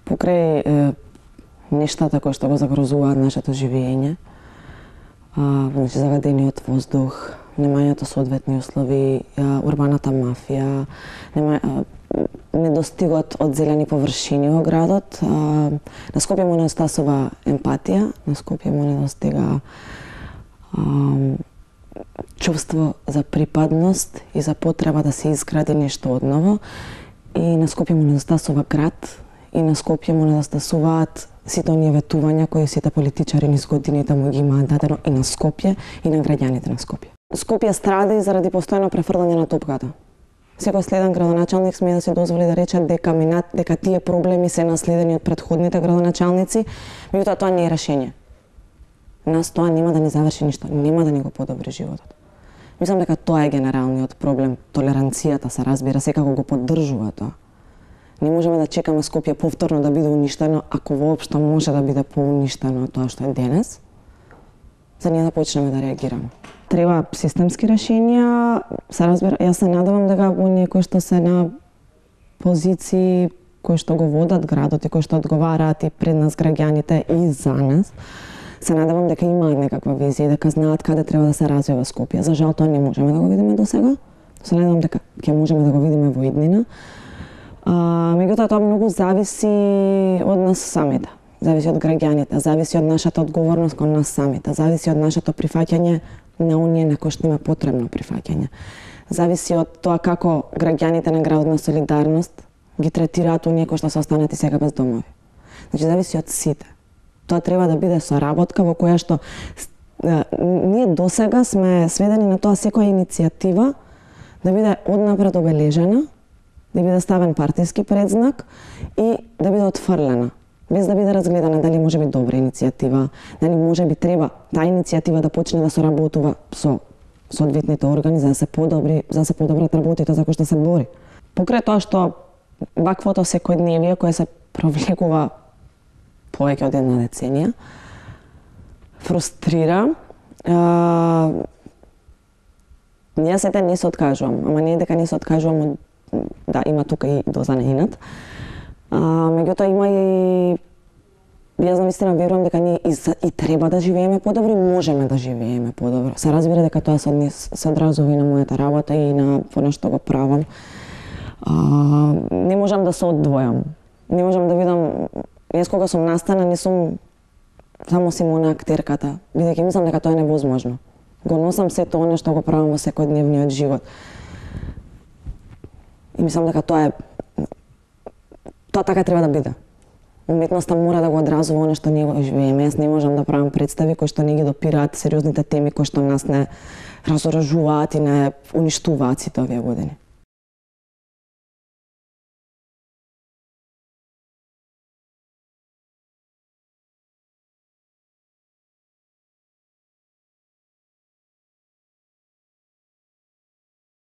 Покрај нештата кои што го загрозуваат нашето живење, значи загадениот воздух, немањето соодветни услови, урбаната мафија, недостигот од зелени површини во градот, на Скопје му недостасува емпатија, на Скопје му недостига чувство за припадност и за потреба да се изгради нешто одново, и на Скопје му недостасува град, и на Скопје му недостасуваат сите оние ветувања кои сите политичари низ годините му ги имаат дадено и на Скопје и на граѓаните на Скопје. Скопје страда и заради постојано префрлање на топката. Секој следен градоначалник сме да се дозволи да рече дека тие проблеми се наследени од претходните градоначалници, меѓутоа тоа не е решение. Нас тоа нема да ни заврши ништо, нема да ни го подобри животот. Мислам дека тоа е генералниот проблем, толеранцијата се разбира, секако го поддржува тоа. Не можеме да чекаме Скопје повторно да биде уништено, ако воопшто може да биде поуништено тоа што е денес, за ние да почнеме да реагираме. Треба системски решенија, се разбира, јас се надевам дека оние кои што се на позиции кои што го водат градот и кои што одговараат и пред нас граѓаните и за нас, се надевам дека имаат некаква визија и дека знаат каде треба да се развива Скопје. За жал тоа не можеме да го видиме досега. Се надевам дека ќе можеме да го видиме во иднина. Меѓутоа тоа многу зависи од нас самите. Зависи од граѓаните, зависи од нашата одговорност кон нас самите, зависи од нашето прифаќање на оние на кои што има потребно прифаќање. Зависи од тоа како граѓаните на градот на Солидарност ги третираат оние кои што се останати сега без домови. Значи зависи од сите. Тоа треба да биде соработка во која што ние досега сме сведени на тоа секоја иницијатива да биде однапред обележена, да биде ставен партиски предзнак и да биде отфрлена, без да биде разгледана дали може би добра иницијатива, дали може би треба таа иницијатива да почне да соработува со соодветните органи за да се подобрат работите за кои што се бори. Покрај тоа што ваквото секојдневие кое се провлекува повеќе од една деценија, фрустрира. Ние сите не се откажувам, ама не е дека не се откажувам од да, има тука и доза на инат. Меѓутоа има и јас навистина верувам дека ние и треба да живееме подобро и можеме да живееме подобро. Се разбира дека тоа се одразува и на мојата работа и на она што го правам. Не можам да се одвојам. Не можам да видам, јас кога сум настана не сум само Симона актерката, бидејќи мислам дека тоа е невозможно. Го носам сето она што го правам во секојдневниот живот. И мислам дека тоа така треба да биде. Уметноста мора да го одразува она што ние го живееме. Јас не можам да правам представи кои што не ги допираат сериозните теми кои што нас не разоружуваат и не уништуваат сите овие години.